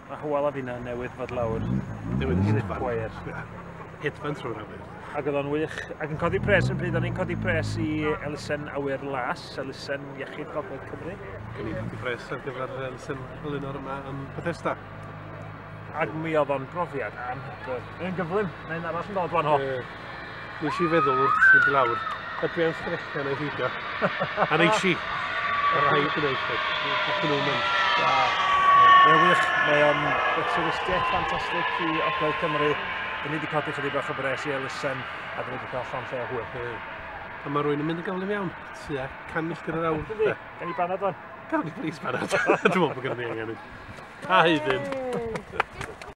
Mae Hywel a finna newydd fod lawr. Newydd i hedfan. Lipwire. Hedfan trwy'r awyr. Ac oedd o'n wych. Ac yn codi pres yn pryd, o'n i'n codi pres i Elusen Awyr Las, Elusen Iechyd Gogledd Cymru. Gen i'n codi pres ar gyfer elusen Elinor yma yn Bethesda. Ac mi oedd o'n brofiad anhygoel. Mae'n gyflym, mae'n arall yn dod fan ho. Ie. Nes i feddwl wrth fynd i lawr, a dwi am sgrechian neu beidio. A neis i. Ma' rhaid gwneud hyn. Nathon nhw'n mynd. Mae'n wych, mae o'n twristiaeth ffantastig i Ogledd Cymru. Dyn ni wedi codi chydig bach o bres i elusen a dyn ni wedi cael llond lle o hwyl. Ie. A mae rwy'n yn mynd yn gyflym iawn. Tua 100 milltir yr awr. Yndi, gawn ni banad wan. Gawn ni plis banad. Dwi'n meddwl bod gennym ni angen un. A hedyn.